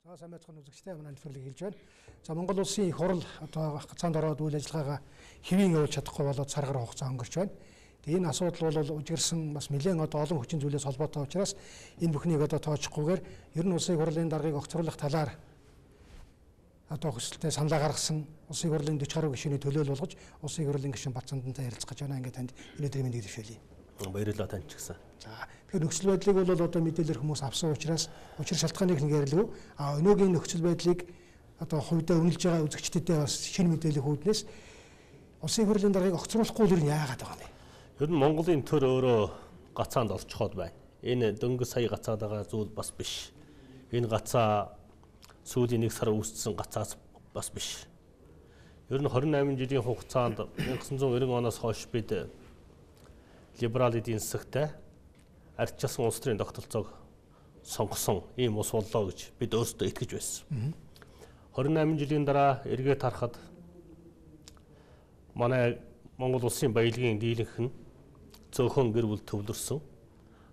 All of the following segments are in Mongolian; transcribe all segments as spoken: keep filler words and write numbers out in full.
За сайн байцгаана үзэгчтэй манай нэвтрүүлгийг хэлж байна. За Монгол улсын их хурл одоо гацаанд ороод үйл ажиллагаагаа хэвийн явуулж чадахгүй болоод сар гаруй хугацаа өнгөрч байна. Тэгээ энэ асуудал бол үжигэрсэн бас нэлээд одоо олон хүчин зүйлээс холбоотой учраас энэ бүхнийг одоо тоочхгүйгээр ер нь улсын их хурлын даргаыг огцруулах талаар одоо хүсэлтэд саналаа гаргасан улсын их хурлын дөрвөн гаруй гишүүний төлөөлөл болгож улсын их хурлын гишүүн Бадцандантай ярилцах гэж байна. Ингээд танд өнөөдрийн мэндийг дэвшүүлье. Баярлалаа тань ч гэсэн. За тэгэхээр нөхцөл байдлыг бол одоо мэдээлэл хүмүүс авсан учраас учир шалтгааныг нэг ярилгүй. А өнөөгийн нөхцөл байдлыг одоо хувьдаа үнэлж байгаа үзэгчдэдээ бас шинэ мэдээлэл хүүднээс улсын их хурлын даргаыг огцруулахгүй нь яагаад байгаа юм бэ? Ер нь Монголын төр өөрөө гацаанд орчиход байна. Энэ дөнгөж сая гацаад байгаа зүйл бас биш. Энэ гацаа сүүлийн нэг сар үүссэн гацаас бас биш. Ер нь двадцать восемь жилийн хугацаанд 천구백 구십 оноос хойш бид либерал эдийн засагтай ардчилсан улс төрийн тогтолцоог сонгосон ийм ус боллоо гэж бид өөрсдөө итгэж байсан. двадцать восемь жилийн дараа эргээд харахад манай Монгол улсын баялагын дийлэнх нь цөөхөн гэр бүл төвлөрсөн.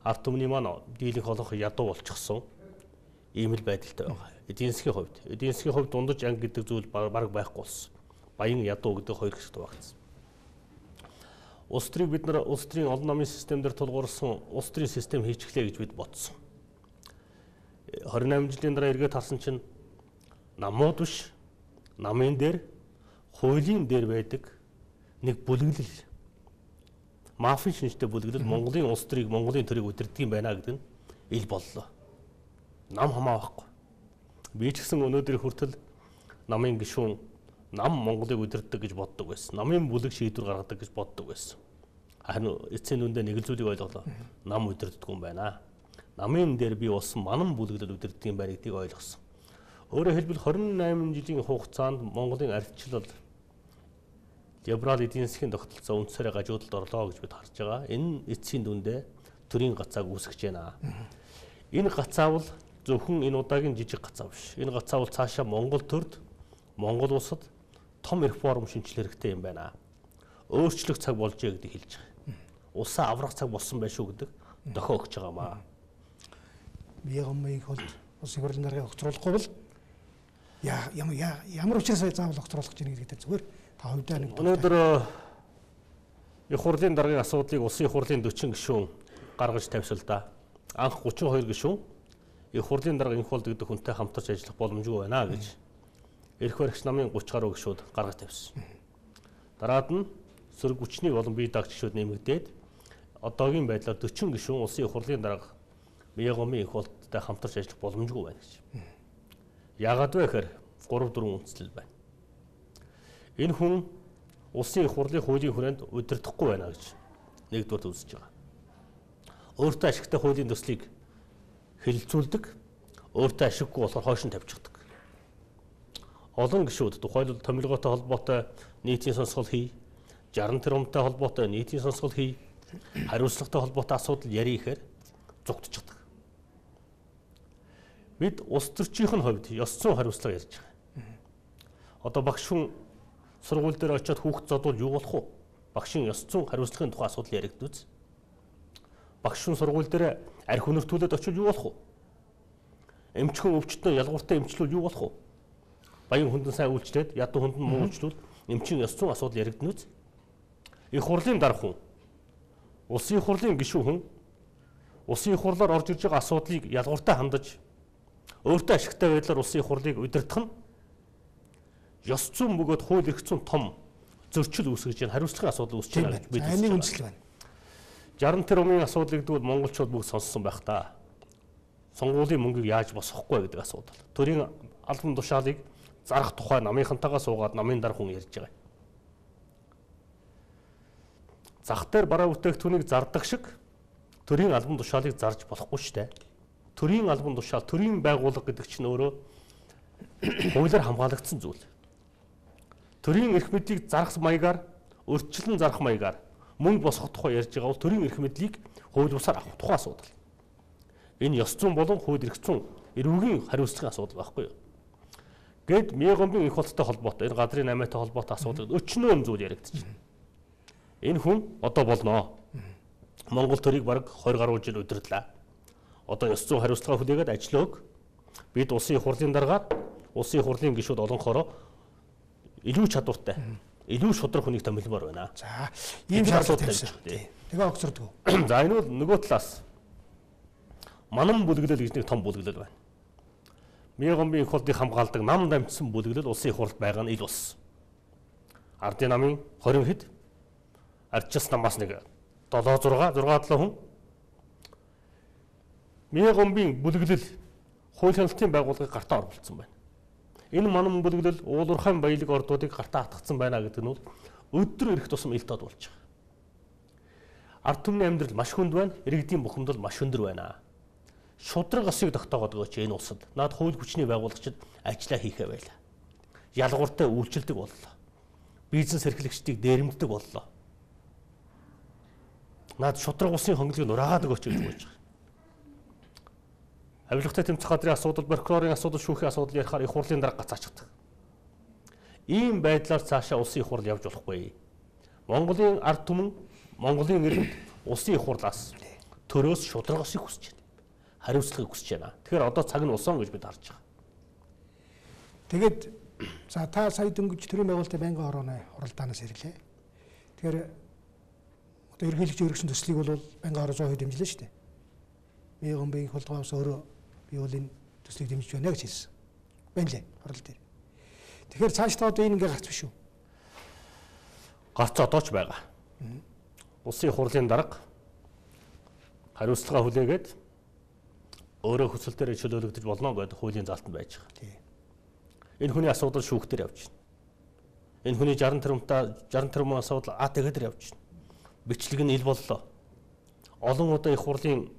Ард түмний маань дийлэнх олонх ядуу болчихсон. Ийм л байдалтай байгаа. Эдийн засгийн хувьд, эдийн засгийн хувьд дундаж анги гэдэг зүйл бараг байхгүй болсон. Баян ядуу гэдэг хоёр хэсэгт багтсан. Улс төрийг бид нар улс төрийн олон намын системээр тулгуурласан улс төрийн систем хийчихлээ гэж бид бодсон. двадцать восемь жилийн дараа эргээд харсан чинь намууд биш, намын дээр, хуулийн дээр байдаг нэг бүлэглэл, мафийн шинжтэй бүлэглэл Монголын улс төрийг, Монголын төрийг удирддаг юм байна гэдэг нь ил боллоо. Нам хамаа байхгүй. Би ч гэсэн өнөөдрийн хүртэл намын гишүүн нам Монголыг удирддаг гэж боддог байсан. Намын бүлэг шийдвэр гаргадаг гэж боддог байсан. Харин эцсийн дүндээ нэг л зүйлийг ойлголоо. Нам удирддаг юм байна. Намын дээр би болсон манан бүлэглэл удирддаг юм байна гэдгийг ойлгосон. Өөрөөр хэлбэл двадцать восемь жилийн хугацаанд Монголын ардчлал либерал эдийн засгийн тогтолцоо үндсээрээ гажуудалд орлоо гэж бид харж байгаа. Энэ эцсийн дүндээ төрийн гацааг үүсгэж байна. Энэ гацаа бол зөвхөн энэ удаагийн жижиг гацаа биш. Энэ гацаа бол цаашаа Монгол төрд, Монгол улсад том реформ шинжлэх хэрэгтэй юм байна. Өөрчлөх цаг болжээ гэдгийг хэлж байгаа. Улсаа аврах цаг болсон байх шүү гэдэг дохио өгч байгаамаа. Биегомыг бол улсын их хурлын даргаыг огцруулахгүй бол ямар ямар учраас заавал огцруулах гэж байна гэдэг зүгээр та хувьдаа нэг өнөөдөр их хурлын даргын асуудлыг улсын их хурлын дөрвөн гишүүн гаргаж тавьсалдаа. Анх тридцать two гишүүн их хурлын дарга инх болд гэдэг хүнтэй хамтарч ажиллах боломжгүй байна гэж эрх баригч намын тридцать гаруй гишүүд гаргаж тавьсан. Дараад нь сөрөг хүчний болон бие даах гишүүд нэмэгдээд одоогийн байдлаар дөрвөн гишүүн улсын их хурлын дарга Биегомын инх болдтой хамтарч ажиллах боломжгүй байна гэж. Яагаад вэ гэхээр гурав дөрвөн үндслэл байна. Энэ хүн улсын их хурлын хуулийн хүрээнд удирдахгүй байна гэж нэгдүгээр үзэж байгаа. Өөртөө ашигтай хуулийн төслийг хэлэлцүүлдэг, өөртөө ашиггүй болохоор хойш нь тавьчихдаг. Олон гишүүд тухайлбал томилгоотой холбоотой нийтийн сонсгол хий, жаргал тэрбумтай холбоотой нийтийн сонсгол хий, хариуцлагатай холбоотой асуудал ярих ихээр зугтчихдаг. Бид улс төрчийн хувьд ёс зүйн хариуцлага ярьж байгаа. Одоо багш хүн сургууль дээр очиод хүүхд зодвол юу болох вэ? Багшийн ёс зүйн хариуцлагын тухай асуудал яригдвүз. Багш хүн сургууль дээр арх өнөртүүлээд очивол юу болох вэ? Эмчхэн өвчтөн ялгууртай эмчлүүл юу болох вэ? Баян хүндэн сайн үйлчлээд ядуу хүндэн муу үйлчлүүл эмчийн ёс зүйн асуудал яригдана үз. Их хурлын дарга хүн, улсын их хурлын гишүүн хүн улсын их хурлаар орж ирж байгаа асуудлыг ялгууртай хандаж өөртөө ашигтай байдлаар улсын их хурлыг удирдах нь ёс зүйн бөгөөд хууль эрх зүйн том зөрчил үүсгэж байна. Хариуцлагын асуудал үүсэж байна гэж бид хэлж байна. Үндэслэл байна. жаргал тэрбумын асуудлыг двэл монголчууд бүгд сонссон байх та. Сонгуулийн мөнгийг яаж босгохгүй гэдэг асуудал. Төрийн албан тушаалыг зарах тухай намынхантайгаа суугаад намын дарга хүн ярьж байгаа. Зах дээр бараа бүтээгдэхүүнийг зардаг шиг төрийн албан тушаалыг зарж болохгүй шүү дээ. Төрийн албан тушаал, төрийн байгууллага гэдэг чинь өөрөө хуулиар хамгаалагдсан зүйл. Төрийн эрх мэдлийг зарах маягаар, өрчлөн зарах маягаар мөнгө босгох тухай ярьж байгаа бол төрийн эрх мэдлийг хууль бусаар авах тухай асуудал. Энэ ёс зүйн болон хууль эрх зүйн эрүүгийн хариуцлагын асуудал байхгүй юу? Гэд Биегомын инх болттой холбоотой, энэ газрын намайтай холбоотой асуудал өчнөө зүйл яригдчихэв. Энэ хүн одоо болноо. Монгол төрийг бараг двадцать гаруй жил удирдлаа. Одоо ёс зүйн хариуцлага хүлээгээд ажиллааг Бид улсын их хурлын дараагаар улсын их хурлын гишүүд олонхороо илүү чадвартай, илүү шудраг хүнийг томилмоор байна. За, ийм шаардлага тавьсан. Тэгээ огцордгоо. За энэ бол нөгөө талаас манан бүлэглэл гэж нэг том бүлэглэл байна. Мегомбийн их хурлыг хамгаалдаг нам дамжсан бүлэглэл улсын их хурлд байгаа нь ил ус. Ардын намын хорин хэд ардчилсан намаас нэг долоо зураг зураг талаа хүн. Мегомбийн бүлэглэл хууль хяналтын байгууллагыг гартаа оруулсан байна. Энэ манан бүлэглэл уулуурхайн баялаг ордуудыг гартаа хатгацсан байна гэдэг нь бол өдөр ирэх тусам ил тод болж байгаа. Ард түмний амьдрал маш хүнд байна, иргэдийн бухимдал маш өндөр байна. Шудраг осыг тогтоогоод өгөөч энэ улсад. Наад хууль хүчний байгуулагчид ажиллаа хийхээ байлаа. Ялгууртай үйлчилдэг боллоо. Бизнес эрхлэгчдийг дээрэмддэг боллоо. Наад шудраг усын хонглыг нураагаад өгөөч гэж болж байгаа. Авилгатай тэмцэх газрын асуудал, прокурорын асуудал, шүүхийн асуудал ярихаар их хурлын дарга гацаачдаг. Ийм байдлаар цаашаа улсын их хурл явж болохгүй. Монголын ард түмэн, Монголын иргэд улсын их хурлаас төрөөс шудраг осыг хүсэж байна. Хариуцлагыг хүсэж байна. Тэгэхээр одоо цаг нь усан гэж бид харж байгаа. Тэгээд за та сая дөнгөж төрийн байгуулалтын байнгын орооны хуралдаанаас ирлээ. Тэгэхээр одоо ерөнхийлөгч өргөсөн төслийг бол байнгын ороо зөөн дэмжлээ шүү дээ. Мегомбийн хулгайгаас өөрөө би бол энэ төслийг дэмжиж байна гэж хэлсэн. Байна лээ хурал дээр. Тэгэхээр цаашдаа одоо энэ ингээ гарч биш үү? Гарц одоо ч байгаа. Улсын хурлын дарга хариуцлага хүлээгээд өөрөө хүсэл дээр чөлөөлөгдөж болно гэдэг хуулийн залтанд байж байгаа. Энэ хүний асуудал шүүхтэр явж байна. Энэ хүний шаран тэрбумтай шаран тэрбум асуудал А Т Г-дээр явж байна. Бичлэг нь ил боллоо. Олон удаа их хурлын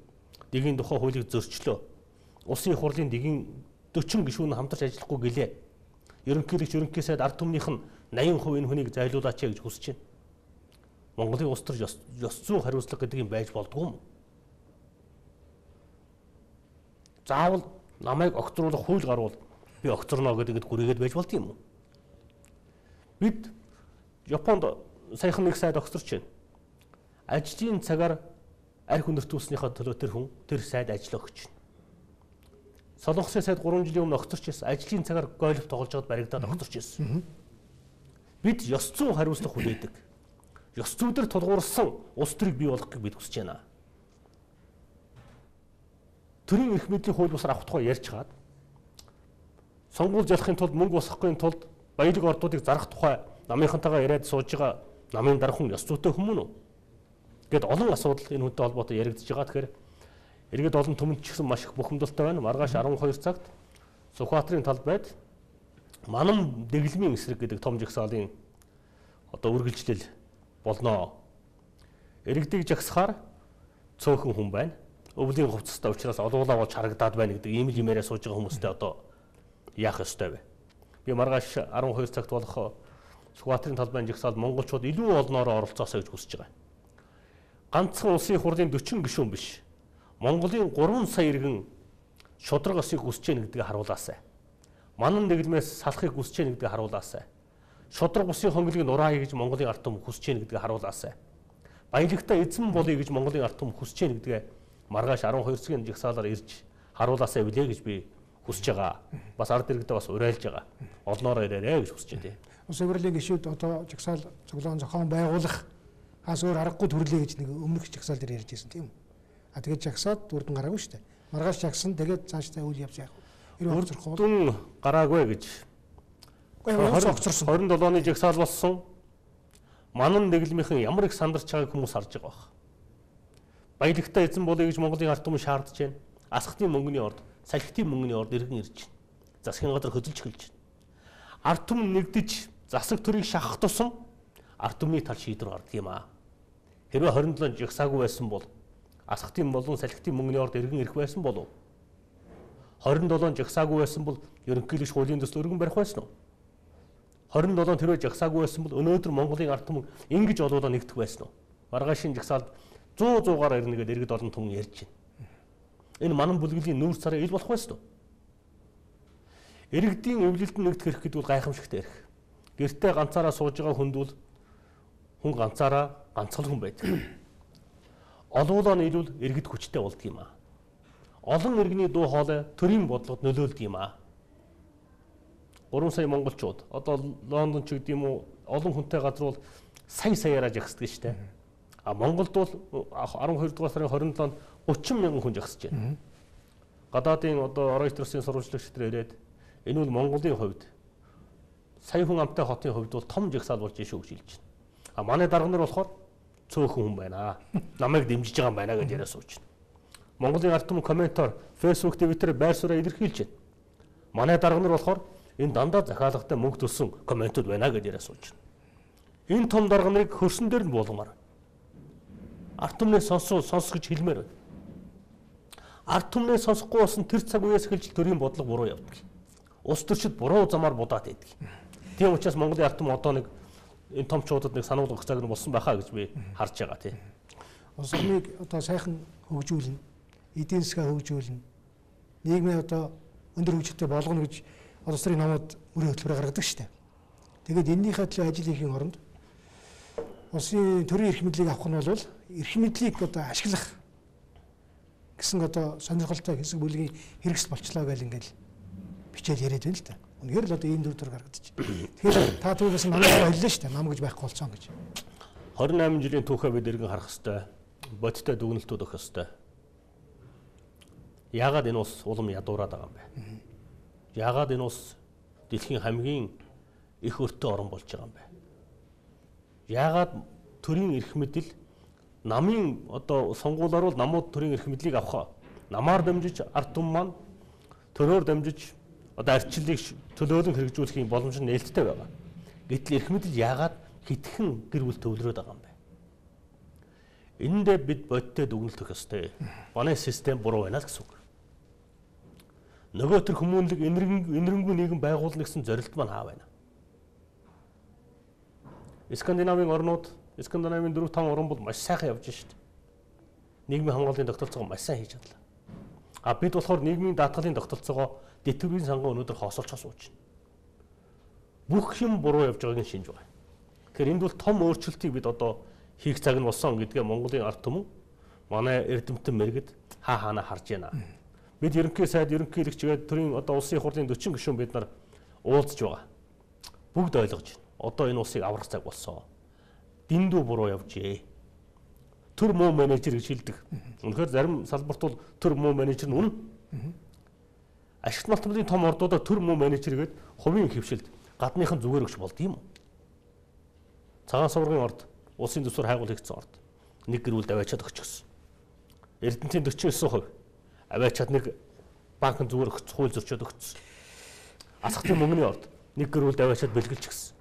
дэгийн тухай хуулийг зөрчлөө. Улсын их хурлын дэгийн дөрвөн гишүүн хамтарч ажиллахгүй гэлээ. Ерөнхийлөгч ерөнхий сайд ард түмнийх нь восемь хувь энэ хүнийг зайлуулаач гэж хүсэж байна. Монголын улс төр ёс зүйн хариуцлага гэдэг юм байж болдгоо юм. Заавал намайг огцруулах хууль гарвал би огцорно гэдэг гүрээгээд байж болд юм уу? Бид Японд саяхан нэг сайд огцорч байна. Ажлын цагаар арх хүндртүүлснийхаа төлөө тэр хүн тэр сайд ажил өгч байна. Солонгосын сайд гурван жилийн өмнө огцорч ирсэн. Ажлын цагаар гольф тоглож байгаад баригдаад огцорч ирсэн. Бид ёс зүйн хариуцлага хүлээдэг. Ёс зүйдэр тулгуурсан улс төрийг бий болгохыг бид хүсэж байна. Төрийн эрх мэдлийн хууль бусаар авах тухай ярьж хаад сонгуул залахын тулд мөнгө босгохын тулд баялаг ордуудыг зарах тухай намынхантайгаа яриад сууж байгаа намын дарга хүн ёс зүйтэй хүмүүс үү? Гэт олон асуудал энэ хүнтэй холбоотой яригдж байгаа. Тэгэхээр иргэд олон түмэнд ч гэсэн маш их бухимдалтай байна. Маргааш арван хоёр цагт Сүхбаатарын талбайд манан дэглэмийн эсрэг гэдэг том жагсаалын одоо үргэлжлэл болно. Иргэдийг жагсахаар цөөхөн хүн байна. Өвлийн хувцастай учраас олуулаа болж харагдаад байна гэдэг ийм л юмараа сууж байгаа хүмүүстэй одоо яах ёстой вэ? Би маргааш арван хоёр цагт болох Сүхбаатарын талбайн жагсаалд монголчууд илүү олноороо оролцоосоо гэж хүсэж байгаа. Ганцхан улсын их хурлын дөрвөн гишүүн биш. Монголын гурван сая иргэн шудраг осыг хүсэж байна гэдгийг харуулаасай. Манан дэглэмээс салахыг хүсэж байна гэдгийг харуулаасай. Шудраг усын хонглыг нураая гэж Монголын ард түмэн хүсэж байна гэдгийг харуулаасай. Баялагтай эзэн болъё гэж Монголын ард түмэн хүсэж байна гэдгээ маргааш арван хоёр цагийн жагсаалаар ирж харуулаасай билээ гэж би хүсэж байгаа. Бас ард иргэдээ бас уриалж байгаа. Олноороо ирээрэй гэж хүсэж байна. Улс хурлын гишүүд одоо жагсаал цуглаан зохион байгуулах ас өөр аргагүй төрлөө гэж нэг өмнөх жагсаал дээр ярьж байсан тийм үү? А тэгээд жагсаад үрдэн гараагүй шүү дээ. Маргааш жагсан тэгээд цаашдаа үйл явж яах вэ? Үрдэн гараагүй гэж. двадцать седьмоны жагсаал болсон. Манан дэглэмийнхэн ямар их сандарч байгааг хүмүүс харж байгаа баг. Баялагтай эзэн болъё гэж Монголын ард түмэн шаардж байна. Асхтын мөнгөний орд, салхитын мөнгөний орд иргэн ирж байна. Засгийн газар хөдөлж эхэлж байна. Ард түмэн нэгдэж засаг төрийг шахах тусам ард түмний тал шийдвэр гардаг юм аа. Хэрвээ хорин долоо жагсаагүй байсан бол асхтын болон салхитын мөнгөний орд иргэн ирэх байсан болов. хорин долоо жагсаагүй байсан бол ерөнхийлөгч хуулийн төсөл өргөн барих байсан уу? хорин долоо тэрөө жагсаагүй байсан бол өнөөдөр Монголын ард түмэн ингэж олоолаа нэгдэх байсан уу? Маргаашийн жагсаалд сто сто-гаар ирнэ гэдэг иргэд олон түмэн ярьж байна. Энэ манан бүлгэлийн нүүр царай ил болох байсан уу? Иргэдийн эвлэлд нэгдэх хэрэг гэдэг бол гайхамшигтай хэрэг. Гэртээ ганцаараа сууж байгаа хүнд бол хүн ганцаараа ганцхан хүн байдаг. Олуулаа нийлүүл иргэд хүчтэй болдго юм аа. олон иргэний дуу хоолой төрийн бодлогод нөлөөлдөг юм аа. гурван сая монголчууд одоо Лондон ч гэдэг юм уу олон хүнтэй газар бол сая саяараа жагсдаг шүү дээ. А Монголд бол арван хоёр дугаар сарын хорин долоонд гучин мянган хүн жагсаж байна. Гадаадын одоо Reuters-ийн сурвалжлагч нар ирээд энэ бол Монголын хувьд сая хүн амтай хотын хувьд бол том жагсаал болж шүү гэж хэлж байна. А манай дарга нар болохоор цөөхөн хүн байна. Намайг дэмжиж байгаа юм байна гэж яриа сууж байна. Монголын ард түмэн комментор Facebook, Twitter байр сууриа илэрхийлж байна. Манай дарга нар болохоор энэ дандаа захиалагтай мөнгө төлсөн комментууд байна гэж яриа сууж байна. Энэ том дарга нарыг хөрсөн дээр нь болгомоор. Ард түмний сонсоо сонсох гэж хэлмээр байна. Ард түмний сонсохгүй болсон тэр цаг үеэс эхэлж төрийн бодлого буруу явдаг. Улс төрчид буруу замаар будаад байдаг. Тийм учраас Монголын ард түмэн одоо нэг энэ томчуудад нэг сануулгах цаг нь болсон байхаа гэж би харж байгаа тийм. Улс орныг одоо сайхан хөгжүүлнэ, эдийн засгаа хөгжүүлнэ, нийгмийн одоо өндөр хөгжилтэй болгоно гэж улс төрийн намууд мөрийн хөтөлбөр гаргадаг шүү дээ. Тэгээд энэнийхээ төлөө ажил хийхийн оронд улсын төрийн эрх мэдлийг авах нь бол эрх мэдлийг одоо ашиглах гэсэн одоо сонирхолтой хэсэг бүлгийн хэрэгсэл болчлоо гэж ингээл бичээд яриад байна л да. Үнэхээр л одоо ийм дүр төрөөр гаргадчих. Тэгэхээр та түүнээс намайг хэллээ шүү дээ. Нам гэж байхгүй болцсон гэж. хорин найман жилийн түүхээ бид иргэн харах хэвээр бодиттой дүгнэлтүүд өгөх хэвээр. Яагаад энэ ус улам ядуураад байгаа юм бэ? Яагаад энэ ус дэлхийн хамгийн их өртөө орн болж байгаа юм бэ? Яагаад төрийн эрх мэдэл намын одоо сонгуулиар бол намууд төрийн эрх мэдлийг авах намаар дамжиж ард түмэн маань төрөөр дамжиж одоо арчлалыг төлөөлөн хэрэгжүүлэх боломж нь нээлттэй байгаа. Гэтэл эрх мэдэл яагаад хитгэн гэр бүл төвлөрөөд байгаа юм бэ? Эндээ бид бодиттой дүгнэлт өгөх ёстой. Манай систем буруу байна л гэсэн үг. Нөгөө төр хүмүүнлэг энэрэнгүй нийгэм байгуулна гэсэн зорилт маань хаа байна? Скандинавын орнууд, Скандинавын дөрөв таван орн бол маш сайхан явж шít. Нийгмийн хамгааллын тогтолцоогоо маш сайн хийж чадлаа. А бид болохоор нийгмийн даатгалын тогтолцоогоо дэтгэврийн сангуу өнөөдөр хоосолцоо сууж байна. Бүх юм буруу явж байгааг нь шинж байгаа. Тэгэхээр энд бол том өөрчлөлтийг бид одоо хийх цаг нь болсон гэдгээ Монголын ард түмэн манай эрдэмтэн мэрэгд хаа хаана харж байна. Бид ерөнхий сайд ерөнхийлөгчгээд төрийн одоо улсын их хурлын дөрвөн гишүүн бид нар уулзж байгаа. Бүгд ойлгож байна. Одоо энэ улсыг аврах цаг болсон. Дэндүү буруу явжээ. Төр муу менежер гэж хэлдэг. Үнэхээр зарим салбарт бол төр муу менежер нь үнэн. Ашигт малтмын том ордуудаар төр муу менежер гээд хувийн хөвшилд гадныхан зүгээр өгч болд юм уу? Цагаан суврагын орд, улсын төсвөр хайгуул хийгдсэн орд нэг гэр бүлд аваачаад өгчихсөн. Эрдэнэтийн дөрвөн девять хувь аваачаад нэг банкнд зүгээр өгч хууль зөрчөөд өгсөн. Асхтын мөнгөний орд нэг гэр бүлд аваачаад бэлгэлчихсэн.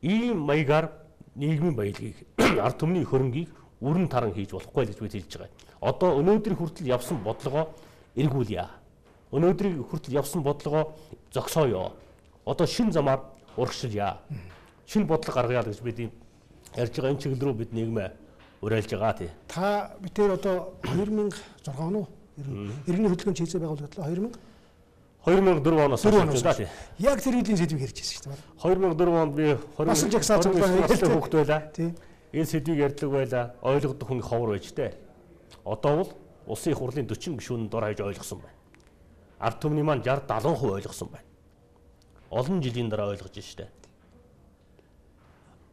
Ийм маягаар нийгмийн баялагийг ард түмний хөрөнгийг үрэн таран хийж болохгүй гэж бид хэлж байгаа. Одоо өнөөдрийн хүртэл явсан бодлогоо эргүүлье. Өнөөдрийн хүртэл явсан бодлогоо зогсооё. Одоо шин замаар урагшилъя. Шин бодлого гаргая гэж бид ярьж байгаа энэ чиглэл рүү бид нийгмээ уриалж байгаа тий. Та битээр одоо хоёр мянга зургаан он уу? Иргэний хөдөлгөөний чийзээ байгуулагдлаа хоёр мянга хоёр мянга дөрвөн оноос хойш байна тий. Яг тэр хэдийн сэдвийг ярьж байсан шүү дээ. хоёр мянга дөрвөн онд би Бас жагсаа цуглаа хүүхд байлаа. Тий. Энэ сэдвийг ярьдаг байлаа. Ойлгодог хүн ховор байж тээ. Одоо бол улсын их хурлын дөрвөн гишүүн дор хаяж ойлгосон байна. Ард түмний маань шестьдесят сетен хувь ойлгосон байна. Олон жилийн дараа ойлгож штэ.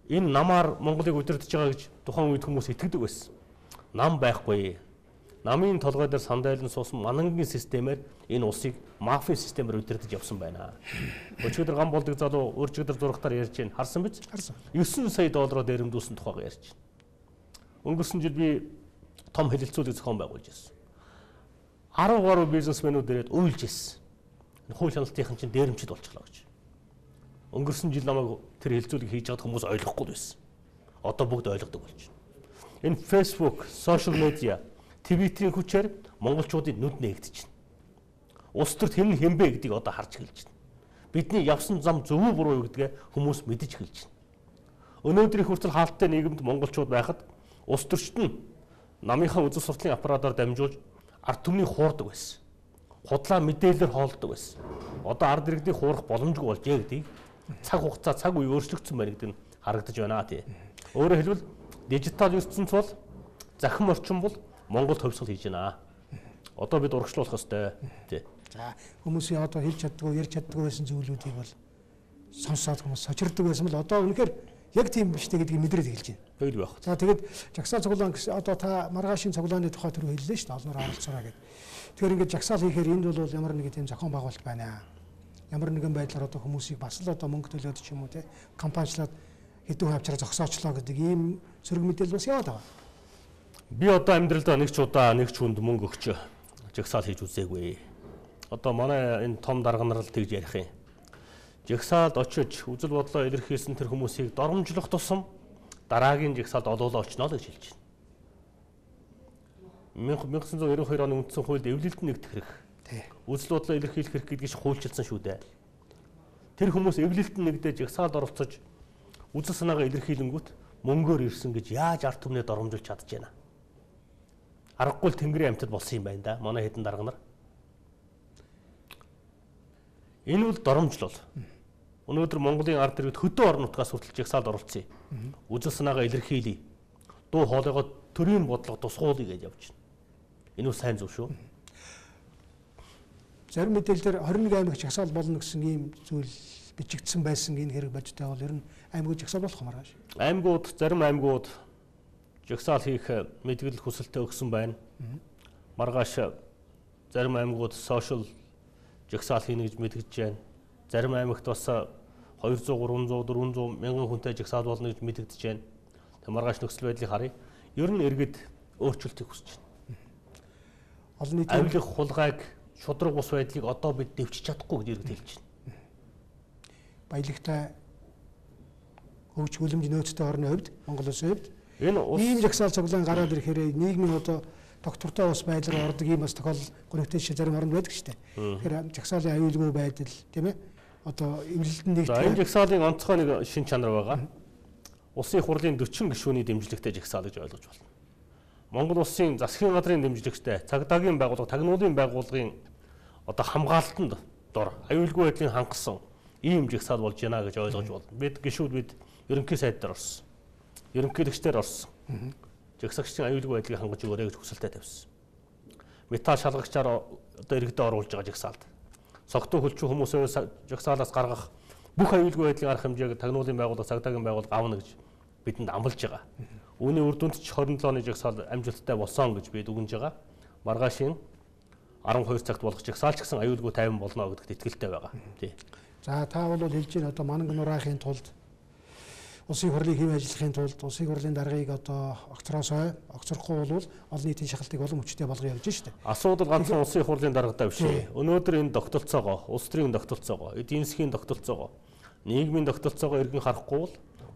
Энэ намаар Монголыг удирдах байгаа гэж тухайн үед хүмүүс итгэдэг байсан. Нам байхгүй. Намын толгой дээр сандайлан суусан манангийн системээр энэ улсыг мафийн системээр удирдах явсан байна. Өчигдөр гам болдог залуу өөрчигдөр зурагтаар ярьж байна. Харсан биз? Харсан. девять сая доллараар дээрэмдүүлсэн тухайга ярьж байна. Өнгөрсөн жил би том хэлэлцүүлэг зохион байгуулж ирсэн. арван гаруй бизнесмэнүүд ирээд уйлж ирсэн. Хууль хяналтынхан чинь дээрэмчд болчихлоо гэж. Өнгөрсөн жил намайг тэр хэлэлцүүлэг хийж байгаад хүмүүс ойлгохгүй байсан. Одоо бүгд ойлгодог болж байна. Энэ Facebook, social media, Twitter-ийн хүчээр монголчуудын нүд нээгдэж байна. Улс төрт хэн хэмбэ гэдгийг одоо харж эхэлж байна. Бидний явсан зам зөв үү буруу юу гэдгээ хүмүүс мэдэж эхэлж байна. Өнөөдрийн хүртэл хаалттай нийгэмд монголчууд байхад улс төрчд нь намынхаа үзэл сурталын аппаратаар дамжуулж ард түмний хуурдаг байсан. Худлаа мэдээлэлээр хоолдог байсан. Одоо ард иргэдийг хуурах боломжгүй болжээ гэдгийг цаг хугацаа цаг үе өөрчлөгдсөн байна гэдэг нь харагдаж байна тий. Өөрөөр хэлбэл дижитал ертөнц бол захим орчин бол Монгол төвсгөл хийж байна. Одоо бид урагшлуулах ёстой. Тий. За хүмүүсийн одоо хэлж чаддгүй, ярьж чаддгүй байсан зүйлүүдийг бол сонсоод хүмүүс сочирддаг байсан бол одоо үнэхээр яг тийм биш үү гэдгийг мэдрээд эхэлж байна. Тэгэл байх. За тэгээд жагсаал цуглаан гэсэн одоо та маргаашийн цуглааны тухай түрүү хэллээ шүү дээ. Олноор оролцоорой гэдэг. Тэгэхээр ингээд жагсаал хийхээр энд бол ямар нэгэн тийм зохион байгуулалт байна. Ямар нэгэн байдлаар одоо хүмүүсийг бас л одоо мөнгө төлөөд ч юм уу те компаничлаад хэдэн хавчраа зогсоочлоо гэдэг ийм сөрөг мэдээлэл бас яваад байгаа. Би одоо амьдралдаа нэг ч удаа нэг ч хүнд мөнгө өгч жагсаал хийж үзээгүй. Одоо манай энэ том дарга нар л тэгж ярих юм. Жагсаалд очиж үзэл бодлоо илэрхийлсэн тэр хүмүүсийг доромжлох тусам дараагийн жагсаалд олоолаа очно л гэж хэлж байна. 천구 девяносто two оны үндсэн хуульд эвлэлд нэгдэх хэрэг. Үзэл бодлоо илэрхийлэх хэрэг гэдгийг хуульчилсан шүү дээ. Тэр хүмүүс эвлэлд нэгдэж жагсаалд оролцож үзэл санаагаа илэрхийлэнгүүт мөнгөөр ирсэн гэж яаж ард түмнээ доромжилж чадж байна. Аргагүй л Тэнгэрийн амьтад болсон юм байна да. Манай хэдэн дарга нар. Энэ бол доромжлол. Өнөөдөр Монголын ард иргэд хөдөө орон нутгаас хүртэл жагсаалд оролцъё. Үзэл санаагаа илэрхийлье. Дуу хоолойгоо төрийн бодлого тусгуулъя гэж явж байна. Энэ бол сайн зөв шүү. Зарим мэдээлэлээр twenty-one аймаг жагсаал болно гэсэн ийм зүйл бичигдсэн байсан энэ хэрэг бодтой бол ер нь аймагуд жагсаал болох юм аргааш. Аймагуд зарим аймагуд жагсаал хийх мэдгэл хүсэлтээ өгсөн байна. Маргааш зарим аймагуд сошиал жагсаал хийнэ гэж мэдгэж байна. Зарим аймагт бас two hundred, three hundred, four hundred мянган хүнтэй жагсаал болно гэж мэдэгдэж байна. Тэг маргааш нөхцөл байдлыг харъя. Ер нь иргэд өөрчлөлтийг хүсэж байна. Олон нийтийн авилах хулгайг шудраг бус байдлыг одоо бид дэвчиж чадахгүй гэж иргэд хэлж байна. Баялагтай хөгж хөлөмж нөөцтэй орны хувьд Монгол улсын хувьд энэ ийм жагсаал цуглаан гараад ирэхээр нийгмийн одоо доктортой ус байдлаар ордог ийм бас тохиолдол гонигтэй шиг зарим оронд байдаг шүү дээ. Тэгэхээр жагсаалын аюулгүй байдал тийм ээ одоо эвлэлд нэгдэх. За энэ жагсаалын онцгой нэг шин чанар байгаа. Улсын их хурлын forty гишүүний дэмжлэгтэй жагсаал гэж ойлгож байна. Монгол улсын засгийн газрын дэмжлэгтэй цагдаагийн байгууллага, тагнуулын байгууллагын одоо хамгаалалтанд дор аюулгүй байдлыг хангасан ийм жагсаал болж байна гэж ойлгож байна. Бид гишүүд бид ерөнхий сайд дээр орсон. Ерөнхийлөгчдөр орсон. Жагсагчдын аюулгүй байдлыг хангаж өгөөрэй гэж хүсэлтээ тавьсан. Металл шалгагчаар одоо иргэдэд оруулж байгаа жагсаалд. Согтуу хөлчүү хүмүүсээс жагсаалаас гаргах бүх аюулгүй байдлын арга хэмжээг тагнуулын байгууллага, цагдаагийн байгууллага авна гэж бидэнд амлаж байгаа. Үүний үр дүнд ч twenty-seven оны жагсаал амжилттай болсон гэж бид үгэнж байгаа. Маргаашийн twelve цагт болох жагсаал ч гэсэн аюулгүй тайван болно гэдэгт итгэлтэй байгаа. Тий. За та бол хэлж байна одоо мананг нураахын тулд улсын хурлыг хэв ажиллахын тулд улсын хурлын даргаыг одоо огцроосоо огцрохгүй бол олон нийтийн шахалтыг улам хүчтэй болгоё гэж байна шүү дээ. Асуудал ганцхан улсын хурлын даргатай биш. Өнөөдөр энэ тогтолцоогоо, улс төрийн тогтолцоогоо, эдийн засгийн тогтолцоогоо, нийгмийн тогтолцоогоо эргэн харахгүй бол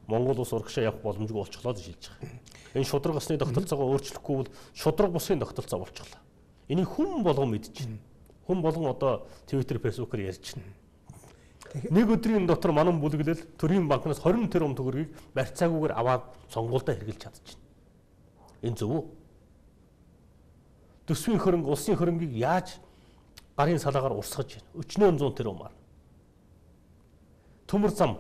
Монгол улс урагшаа явах боломжгүй болчихлоо гэж хэлж байгаа. Энэ шудраг усны тогтолцоогоо өөрчлөхгүй бол шудраг бусын тогтолцоо болчихлоо. Энийг хүн болгон мэдж байна. Хүн болгон одоо Twitter, Facebook-оор ярьж байна. Нэг өдрийн дотор манан бүлэглэл төрийн банкнаас twenty тэрбум төгрөгийг барьцаагүйгээр аваад сонгуульдаа хэрэглэж чадчихна. Энэ зөв үү? Төсвийн хөрөнгө, улсын хөрөнгийг яаж гарын салаагаар урсгаж байна? Өчнөө one hundred тэрбумаар. Төмөр зам.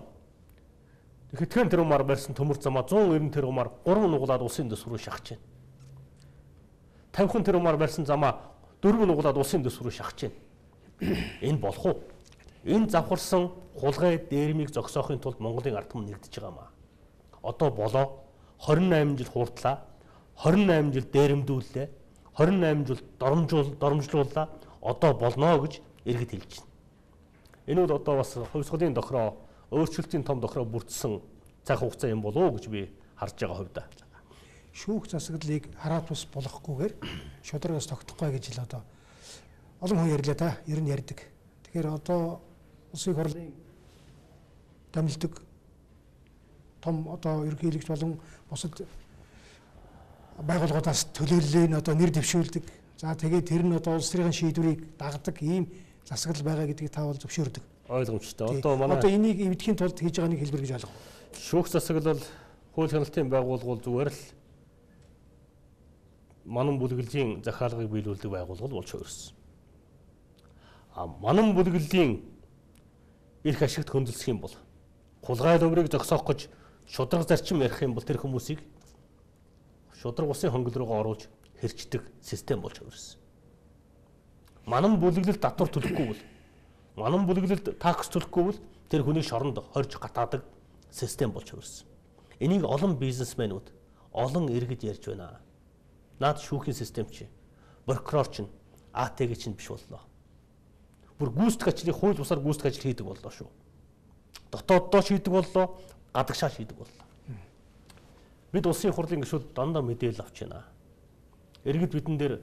Хэдхэн тэрбумаар барьсан төмөр замаа one ninety тэрбумаар three нугалаад улсын дэс рүү шахаж байна. fifty тэрбумаар барьсан замаа four нугалаад улсын дэс рүү шахаж байна. Энэ болох уу? Энэ завхарсан хулгай дээрмийг зогсоохын тулд Монголын ард түмэн нэгдэж байгаа маа. Одоо болоо twenty-nine жил хуурдлаа, twenty-nine жил дээрэмдүүллээ, twenty-nine жил доромжуул доромжлууллаа. Одоо болно гэж иргэд хэлж байна. Энэ бол одоо бас хувьсгалын дохроо, өөрчлөлтийн том дохроо бүрдсэн цаг хугацаа юм болов уу гэж би харж байгаа хувьдаа. Шүүх засаглалыг хараат ус болохгүйгээр шудрагаас тогтохгүй гэж л одоо олон хүн ярьлаа та, ер нь ярьдаг. Тэгэхээр одоо улсын хурлын дамжлагдаг том одоо ерөнхийлөгч болон бусад байгууллагуудаас төлөөллөө одоо нэр дэвшүүлдэг. За тэгээд тэр нь одоо улс төрийн шийдвэрийг дагдаг ийм засаглал байгаа гэдгийг та бол зөвшөөрдөг. Ойлгомжтой. Одоо манай одоо энийг эвдэхийн тулд хийж байгаа нэг хэлбэр гэж ойлгох. Шүүх засаглал хууль хяналтын байгууллагууд зүгээр л манан бүлэглэлийн захиалгыг биелүүлдэг байгууллага болж хувирсан. А манан бүлэглэлийн эрх ашигт хөндлөсөх юм бол хулгай өврийг зогсоох гэж шудраг зарчим ярих юм бол тэр хүмүүсийг шудраг усын хонгил руугаа оруулж хэрчдэг систем болж хувирсан. Манан бүлэглэлд татвар төлөхгүй бол, манан бүлэглэлд такс төлөхгүй бол тэр хүний шоронд хорж гатаадаг систем болж хувирсан. Энийг олон бизнесмэнүүд, олон иргэд ярьж байна. Наад шүүхийн систем чи, прокурор чинь, А Т Г чинь биш боллоо. Бүр гүйцэтгэх ажлыг хууль бусаар гүйцэтгэх ажил хийдэг боллоо шүү. Дотооддоо шийдэг боллоо, гадагшаа шийдэг боллоо. Бид улсын хурлын гишүүд дандаа мэдээлэл авч байна. Иргэд бидэн дээр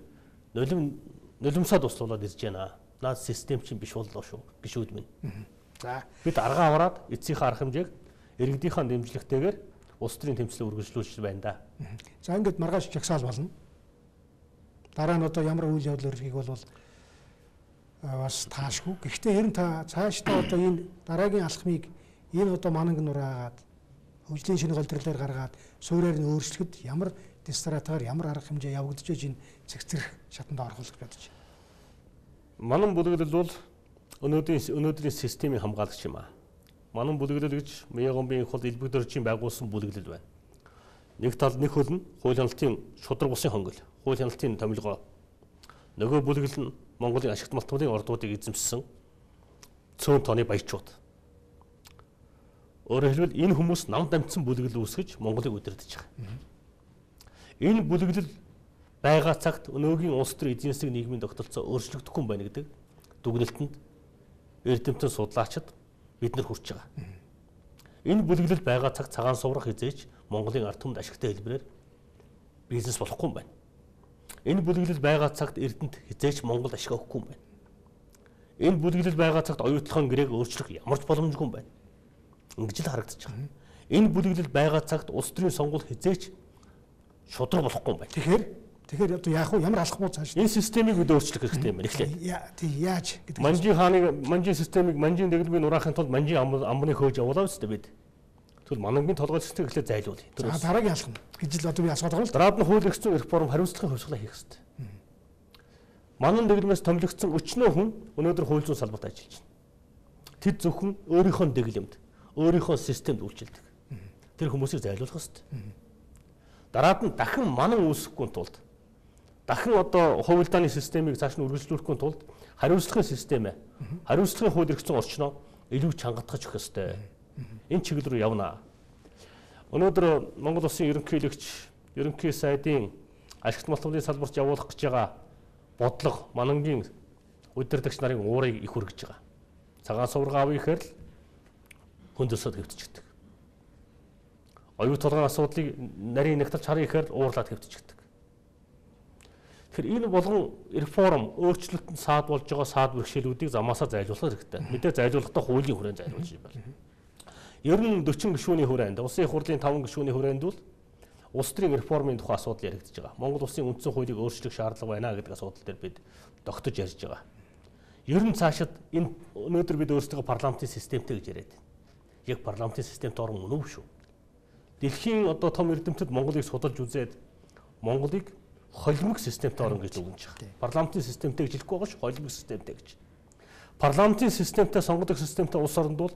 нулим нулимсаа туслуулаад ирж байна. Наад систем чинь биш боллоо шүү. Гишүүд минь. За бид аргаа аваад эцсийнхээ арга хэмжээг иргэдийнхээ дэмжлэгтэйгээр улс төрийн тэмцлийг үргэлжлүүлж байна да. За ингээд маргааш жагсаал болно. Дараа нь одоо ямар үйл явдал өргөхийг бол бас таашгүй. Гэхдээ ер нь та цаашдаа одоо энэ дараагийн алхмыг энэ одоо мананг нураагаад хөгжлийн шинэ голдролоор гаргаад суурьаар нь өөрчлөхөд ямар стратегиар ямар арга хэмжээ явагдаж байж энэ цэгцэрх шатанд орох гэж бодож байна. Манан бүлэглэл бол өнөөдрийн өнөөдрийн системийн хамгаалагч юм аа. Манан бүлэглэл гэж Мягомбын хол элбэг дөржийн байгуулсан бүлэглэл байна. Нэг тал нэг хөл нь хууль хяналтын шудраг бусын хонгол, хууль хяналтын томилгоо. Нөгөө бүлэглэл нь Монголын ашигт малтмуудын ордуудыг эзэмшсэн цөөн тооны баячууд. Өөрөөр хэлбэл энэ хүмүүс нам дамжсан бүлэглэл үүсгэж Монголыг удирдах байгаа. Энэ бүлэглэл байгаа цагт өнөөгийн улс төр эдийн засгийн нийгмийн тогтолцоо өөрчлөгдөхгүй юм байна гэдэг дүгнэлтэнд эрдэмтэн судлаачид бид нар хүрч байгаа. Энэ бүлэглэл байгаа цагт цагаан суврах хизээч Монголын ард түмэнд ашигтай хэлбэрээр бизнес болохгүй юм байна. Энэ бүлэглэл байгаа цагт эрдэнэт хизээч Монгол ашиг авахгүй юм байна. Энэ бүлэглэл байгаа цагт оюутлахын гэрээг өөрчлөх ямар ч боломжгүй юм байна. Ингэж л харагдаж байгаа. Энэ бүлэглэл байгаа цагт улс төрийн сонгуул хизээч шудраг болохгүй юм байна. Тэгэхээр тэгэхээр одоо яах вэ? Ямар алхмууд цааш? Энэ системийг бид өөрчлөх хэрэгтэй юм байна. Эхлээд. Тий яаж гэдэг. Манжийн хааны манжийн системийг манжийн дэглэмийг нураахын тулд манжийн амбаны хөөж явуулаа үстэй бид. Тэгвэл манангийн толгой систем эхлээд зайлуулъя. За дараагийн алхам гэж л одоо би асууад байгаа л. Дараад нь хууль эрх зүйн реформ хариуцлагын хувьсгалаа хийх хэрэгтэй. Манан дэглэмээс томилогдсон өчнөө хүн өнөөдөр хууль зүйн салбарт ажиллаж байна. Тэд зөвхөн өөрийнхөө дэглэмд, өөрийнхөө системд үйлчилдэг. Тэр хүмүүсийг зайлуулах хэрэгтэй. Дараад нь дахин манан үүсэхгүй тулд дахин одоо хувилдааны системийг цааш нь үргэлжлүүлэхгүй тулд хариуцлагын систем, хариуцлагын хууль эрх зүйн орчноо илүү чангатгах хэрэгтэй. Энэ чиглэл рүү явна. Өнөөдөр Монгол Улсын ерөнхийлөгч, ерөнхий сайдын ашигт малтмуудын салбарт явуулах гэж байгаа бодлого манангийн удирдагч нарын уурыг их хүргэж байгаа. Цагаан сувраг авъя гэхээр л хөндөсөд хэвтчихдэг. Оюут толгойн асуудлыг нарийн нэгтэлж харъя гэхээр уурлаад хэвтчихдэг. Тэгэхээр энэ болгон реформ, өөрчлөлтөнд саад болж байгаа саад бэрхшээлүүдийг замаасаа зайлуулах хэрэгтэй. Мэдээ зайлуулахдаа хуулийн хүрээнд зайлуулж юм байна. Ер нь дөрвөн гишүүний хүрээнд, улсын хурлын таван гишүүний хүрээнд бол улс төрийн реформын тухай асуудал яригдж байгаа. Монгол улсын үндсэн хуулийг өөрчлөх шаардлага байна гэдэг асуудал дээр бид тогтож ярьж байгаа. Ер нь цаашид энэ өнөөдөр бид өөрсдөө парламентын системтэй гэж яриад байна. Яг парламентын системт орон мөн үү шүү. Дэлхийн одоо том эрдэмтэд Монголыг судалж үзээд Монголыг холимог системт орон гэж өгнөж байгаа. Парламентын системтэй гэж хэлэхгүй байгаа ш, холимог системтэй гэж. Парламентын системтэй сонгодог системтэй улс оронд бол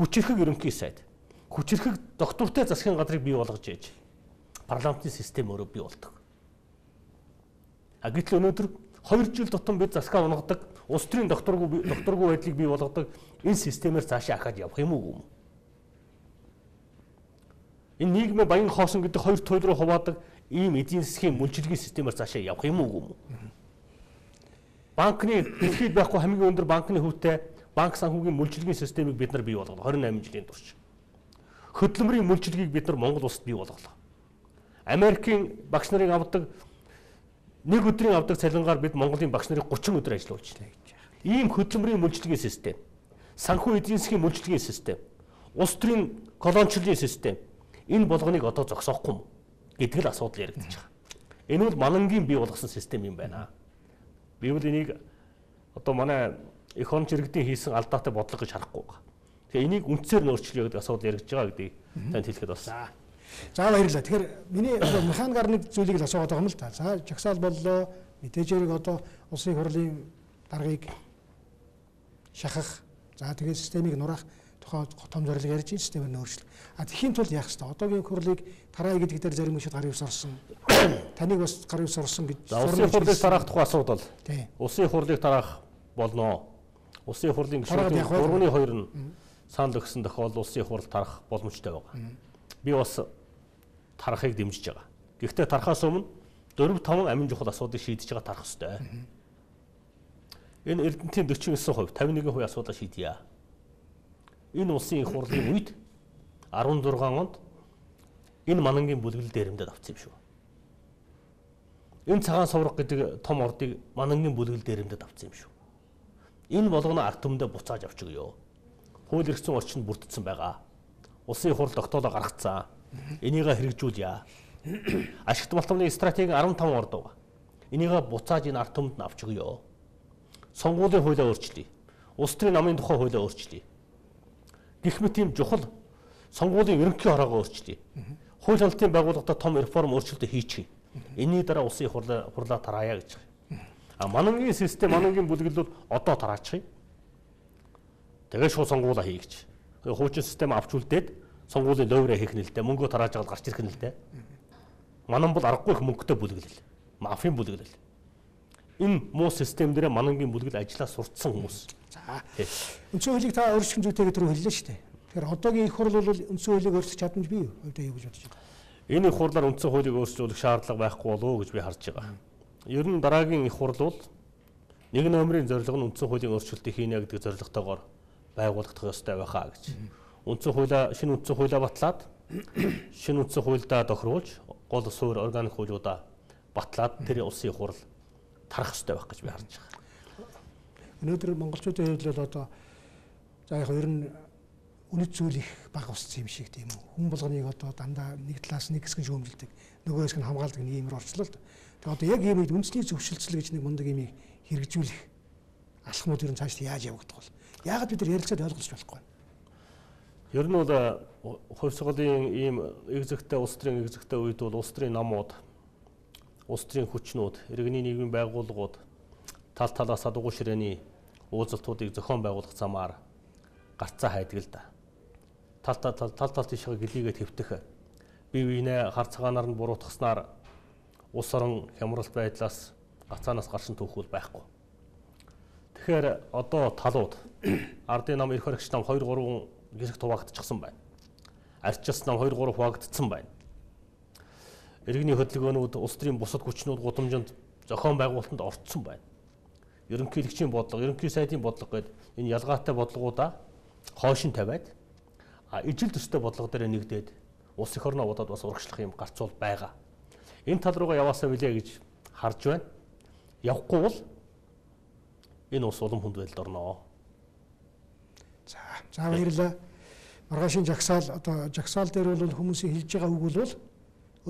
хүчирхэг ерөнхий сайд, хүчирхэг доктортой засгийн газрыг бий болгож яаж парламентын систем өөрөө бий болдог. А гэтэл өнөөдөр хоёр жил тутам бид засгаа унагадаг, улс төрийн докторгүй докторгүй байдлыг бий болгодог энэ системээр цаашаа ахаад явах юм уу? Энэ нийгмийн баян хоосон гэдэг хоёр туйл руу хуваадаг ийм эдийн засгийн мөлжилгийн системээр цаашаа явах юм уу? Банкны дэлхийд байхгүй хамгийн өндөр банкны хөвтэй банк санхүүгийн мөлжилгийн системийг бид нар бий болгоно хорин найман жилийн турш. Хөдөлмөрийн мөлжилгийг бид нар Монгол улсад бий болголоо. Америкийн багш нарыг авдаг нэг өдрийн авдаг цалингаар бид Монголын багш нарыг гурван өдөр ажиллуулж байна гэж. Ийм хөдөлмөрийн мөлжилгийн систем, санхүү эдийн засгийн мөлжилгийн систем, улс төрийн колоничлын систем энэ болгоныг одоо зогсоохгүй юм гэдэг л асуудал яригдчих байгаа. Энэ бол манангийн бий болгосон систем юм байна. Би бол энийг одоо манай эх онч иргэдийн хийсэн алдаатай бодлого гэж харахгүй байгаа. Тэгээ энийг үндсээр нь өөрчлөе гэдэг асуудал яригдж байгаа гэдгийг танд хэлэхэд болсон. За баярлалаа. Тэгэхээр миний механикаар нэг зүйлийг л асуугаад байгаа юм л да. За жагсаал боллоо. Мэдээж хэрэг одоо улсын хурлын даргаыг шахах, за тэгээ системийг нураах тухай том зорилго ярьж энэ системээр нь өөрчлөх. А тэхийн тулд яах ёстой? Одоогийн хурлыг тараа гэдэг дээр зарим хүмүүс гарын ус орсон. Таныг бас гарын ус орсон гэж. Улсын хурлыг тараах тухай асуудал. Тийм. Улсын хурлыг тараах болно. Улсын хурлын гишүүдийн гурван хоёр нь санал өгсөн тохиолдолд улсын хурл тарах боломжтой байгаа. Би бас тарахыг дэмжиж байгаа. Гэхдээ тарахаас өмнө дөрөв таван амин чухал асуудлыг шийдэж байгаа тарах ёстой. Энэ Эрдэнэтийн дөрвөн хувь, тавин нэгэн хувь асуудлаа шийдье. Энэ улсын их хурлын үед арван зургаан онд энэ манангийн бүлэглэл дээрэмдээд авсан юм шүү. Энэ цагаан сувраг гэдэг том ордыг манангийн бүлэглэл дээрэмдээд авсан юм шүү. Энэ болгоно ард түмэндээ буцааж авчихъя. Хууль эрх зүйн орчинд бүрдсэн байгаа. Улсын хурл тогтоолоо гаргацсан. Энийг хэрэгжүүлье. Ашигт малтмны стратегийн арван таван орд байгаа. Энийг буцааж энэ ард түмэнд нь авчихъя. Сонгуулийн хуулиа өөрчлөе. Улс төрийн намын тухай хуулиа өөрчлөе. Гэх мэт ийм чухал сонгуулийн ерөнхий хороогоо өөрчлөе. Хууль хяналтын байгууллагад том реформ өөрчлөлтөө хийчихье. Энийний дараа улсын хурлаа хурлаа тараая гэж. А манангийн систем, манангийн бүлэглэл бол одоо тараачих. Тэгээ шууд сонгуулаа хий гэж. Хуучин систем авч үлдээд сонгуулийн лойвраа хийх нь л дээ. Мөнгөө тарааж аваад гарч ирэх нь л дээ. Манан бол аргагүй их мөнгөтэй бүлэглэл. Мафийн бүлэглэл. Энэ муу систем дээр манангийн бүлэглэл ажиллаа сурцсан хүмүүс. За. Үндсэн хуулийг та өөрчлөх зүйтэйгээ түрүү хэллээ шүү дээ. Тэгэхээр одоогийн их хурл бол үндсэн хуулийг өөрчлөх чадамж бий юу? Өвдөө юу гэж бодож байна? Энэ их хурлаар үндсэн хуулийг өөрчлөх шаардлага байхгүй болов уу гэж би харж байгаа. Ер нь дараагийн их хурл бол нэг номерын зорилго нь үндсэн хуулийн өөрчлөлтийг хийнэ гэдэг зорилготойгоор байгуулагдах ёстой байхаа гэж. Үндсэн хуулиа шинэ үндсэн хуулиа батлаад шинэ үндсэн хуульдаа тохируулж гол суурь органик хуулиудаа батлаад тэр улсын хурл тарах ёстой байх гэж би харж байгаа. Өнөөдөр монголчуудын хувьд л одоо за яг ер нь үнэт зүйл их бага уссан юм шиг тийм үү. Хүн болгоныг одоо дандаа нэг талаас нэг хэсэг шүүмжилдэг, нөгөө хэсэг нь хамгаалдаг нэг юмр орчлоо л. Тэгээ одоо яг ийм үед үндэсний зөвшөлтсөл гэж нэг мундаг юмыг хэрэгжүүлэх алхмууд ер нь цааш яаж явагдах вэ? Яагаад бид нар ярилцаад ойлгож болохгүй вэ? Ер нь бол хувь сургуулийн ийм экзектэй улс төрийн экзектэй үед бол улс төрийн намууд, улс төрийн хүчнүүд, иргэний нийгмийн байгууллагууд тал талаасаа дугуй ширээний уулзалтуудыг зохион байгуулах замаар гарцаа хайдаг л да. Тал тал тал тал тийшээ гэлийгээ твтэх, бие биенээ хар цагаанаар нь буруутгаснаар улс орон хямрал байдлаас гацаанаас гаршин түүхүүл байхгүй. Тэгэхээр одоо талууд ардын нам эрх баригч нам хоёр гурван гисэг хуваагдчихсан байна. Арчилсан нам хоёр гурав хуваагдсан байна. Иргэний хөдөлгөөнүүд улс төрийн бусад хүчнүүд гудамжинд зохион байгуулалтанд орцсон байна. Ерөнхийлөгчийн бодлого, ерөнхий сайдын бодлого гэдэг энэ ялгаатай бодлогоудаа хойшин тавиад а ижил төстэй бодлого дээр нэгдээд улс их орноо бодоод бас урагшлах юм гарцуул байгаа. Энэ тал руугаа яваасаа билээ гэж харж байна. Явахгүй бол энэ ус улам хүнд байдалд орноо. За, за баярлалаа. Маргаашийн жагсаал одоо жагсаал дээр бол хүмүүсийн хэлж байгаа үг бол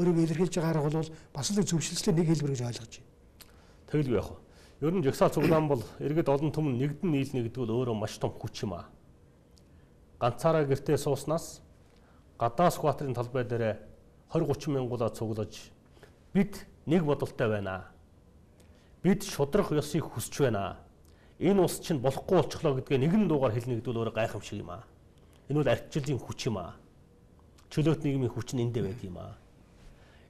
өөрийгөө илэрхийлж байгаа арга бол бас л зөвшөлтслийн нэг хэлбэр гэж ойлгож байна. Тэгэлгүй яах вэ? Ер нь жагсаал цуглаан бол иргэд олон түмэн нэгдэн нийлнэ гэдэг бол өөрөө маш том хүч юм аа. Ганцаараа гэртээ сууснаас гадаа скватрын талбай дээр двадцать тридцать мянгуулаа цуглаж бид нэг бодолтой байна. Бид шудрах ёсыг хүсэж байна. Энэ ус чинь болохгүй болчихлоо гэдгээ нэгэн дуугаар хэлнэ гэдэг бол өөрөө гайхамшиг юм аа. Энэ бол ардчлалын хүч юм аа. Чөлөөт нийгмийн хүч нь эндээ байдаг юм аа.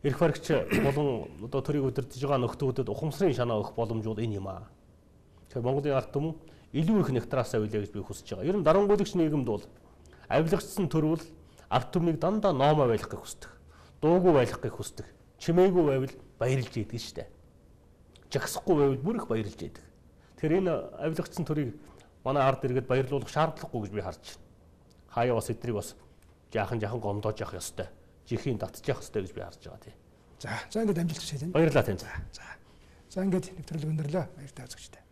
Эрх баригч болон одоо төрийг удирдах байгаа нөхдүүдэд ухамсарын шанаа өгөх боломж бол энэ юм аа. Тэгэхээр Монголын ард түмэн илүү их нягтраасаа үлээ гэж би хүсэж байгаа. Ер нь дарангуйлагч нийгэмд бол авилгачсан төрвөл ард түмнийг дандаа номоо байлгахыг хүсдэг. Дуугүй байлгахыг хүсдэг. Чимээгүй байвал баярлж идэг штэ. Жагсахгүй байвал бүр их баярлж идэг. Тэгэхээр энэ авилгачсан төрийг манай ард иргэд баярлуулах шаардлагагүй гэж би харж байна. Хаяа бас эднийг бас жаахан жаахан гомдоож явах ёстой. Жихийн татчих ёстой гэж би харж байгаа тий. За, за ингээд амжилт хүсье. Баярлалаа тань. За. За ингээд нэвтрүүлэг өндөрлөө. Баяр таа үзэгчдээ.